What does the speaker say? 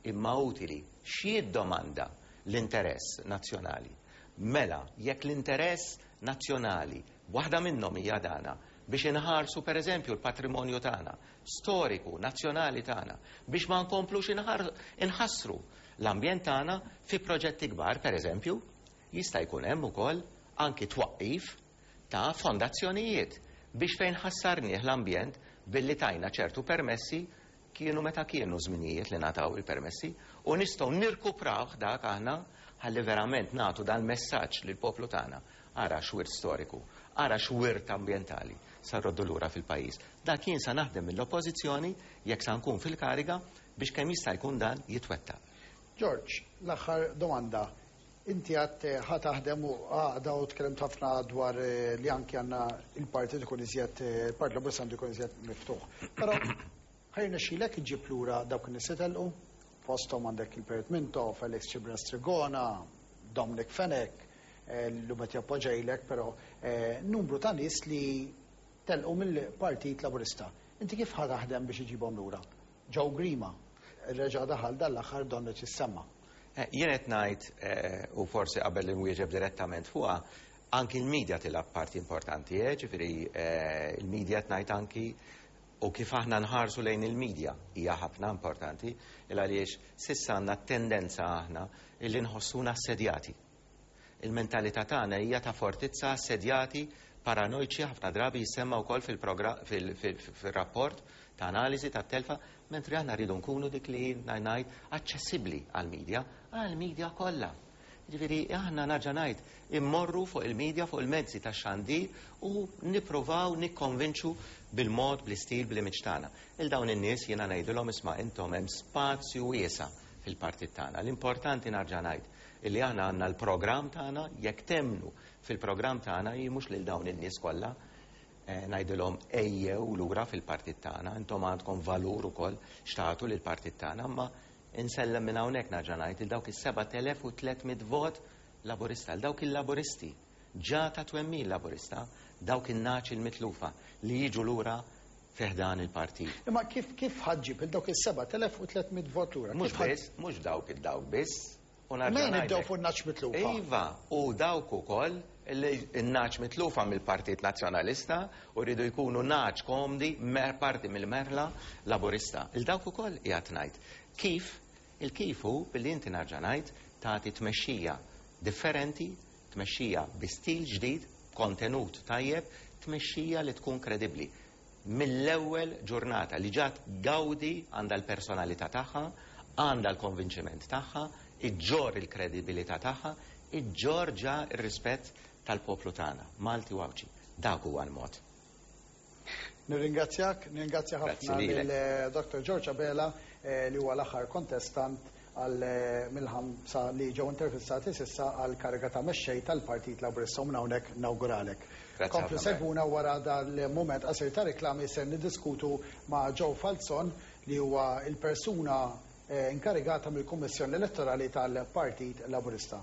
imma utili. X'jiddomanda l-interess nazzjonali? Mela, jekk l-interess nazzjonali, waħda minnhom hija dana, biex inħarsu pereżempju l-patrimonju tagħna, storiku, nazzjonali tagħna, biex ma nkomplux inħassru l-ambjent tagħna fi proġetti kbar, pereżempju, jista' jkun hemm ukoll anki twaqqif ta' fondazzjonijiet biex fejn ħassarnieh l-ambjent billi tajna ċertu permessi kienu meta kienu żminijiet li ngħataw il-permessi u nistgħu nirkuprawh dak aħna ħalli verament nagħtu dal-messaġġ lill-poplu tagħna. Ara x'wirt storiku, ara x'wirt ambjentali sa rroddu lura fil-pajjiż. Dak jien sa naħdem mill-Oppożizzjoni jekk sa nkun fil-kariga biex kemm jista' jkun dan jitwettaq. George, l-aħħar domanda. Inti għedt ħa taħdem u għaqda u tkellimt ħafna dwar li anki għandna il-partit ikun iżjed, il-Partit Laburista għandu jkun iżjed miftuħ. Però ħa jirnexxilek iġġib lura dawk in-nies li telqu? Fosthom għandek il-Perit Mintoff, Alex Cibrian Trigona, Dominic Fenech, llum qed jappoġġa però numru ta' nies li telqu mill-Partit Laburista. Inti kif ħa taħdem biex iġibhom lura? Joe Grima reġa' daħal dan l-aħħar donnu jissemma. Jien qed ngħid, u forsi qabel li nwieġeb direttament fuqha, anki l-media tilgħab parti importanti, ġifieri il-media qed ngħid anki u kif aħna nħarsu lejn il-media hija ħafna importanti, il għaliex s'issa għandna tendenza aħna illi nħossuna assedjati. Il-mentalità tagħna hija ta' fortizza assedjati paranoiċi ħafna drabi jissemma wkoll fil-rapport ta' analiżi ta' telfa, mentri aħna rridu nkunu dik li ngħid aċċessibbli għall-media, għall-media kollha. Ġifieri aħna nerġa' ngħid immorru fuq il-media, fuq il-mezzi ta' xandir u nippruvaw nikkonvinċu bil-mod, bl-istil, bl-image tagħna. Il dawn in-nies jiena ngħidilhom isma' intom hemm spazju wiesa' fil-partit tagħna. L-importanti nerġa' ngħid illi aħna għandna l-programm tagħna, jekk temmnu fil-programm tagħna, jien mhux lil dawn in-nies kollha ngħidilhom ejjew lura fil-partit tagħna, intom għandkom valur ukoll x'tagħtu lill-partit tagħna, imma insellem minn hawnhekk nerġa' ngħid il dawk is-7300 vot Laburista, l dawk il-Laburisti, ġa ta' twemmin Laburista, dawk in-nagħaġ il-mitlufa li jiġu lura fi ħdan il-partit. Imma kif ħa ġġib il dawk is-7300 vot lura? Mhux biss, mhux dawk id-dawk biss. U Ma nibdew fuq nagħaġ mitlufa. Iva, u dawk ukoll in-nagħaġ mitlufa mill-Partit Nazzjonalista u rridu jkunu nagħaġ komdi parti mill-merħla Laburista. Il dawk ukoll qiegħed ngħid. Kif? Il-kif hu billi inti nerġa' ngħid tagħti tmexxija differenti, tmexxija bi stil ġdid, kontenut tajjeb, tmexxija li tkun kredibbli. Mill-ewwel ġurnata li ġa tgawdi għandha l-personalità tagħha, għandha l-konvinċiment tagħha, iġġorr il-kredibilità tagħha, iġġorr ġa r-rispett tal-poplu tagħna, Malti u Għawdxi. Dak huwa l-mod. Nirringrazzjak, nirringrazzja ħafna lil Dr. George Abela li huwa l-aħħar kontestant għal mill-ħamsa li ġew intervistati s'issa għal kariga ta' mexxej tal-Partit Laburista u minn hawnhekk nawguralek. Komplu segwuna wara dal-mument qasir ta' riklami ser niddiskutu ma' Joe Falzon li huwa il-persuna inkarigata mill-Kummissjoni Elettorali tal-Partit Laburista.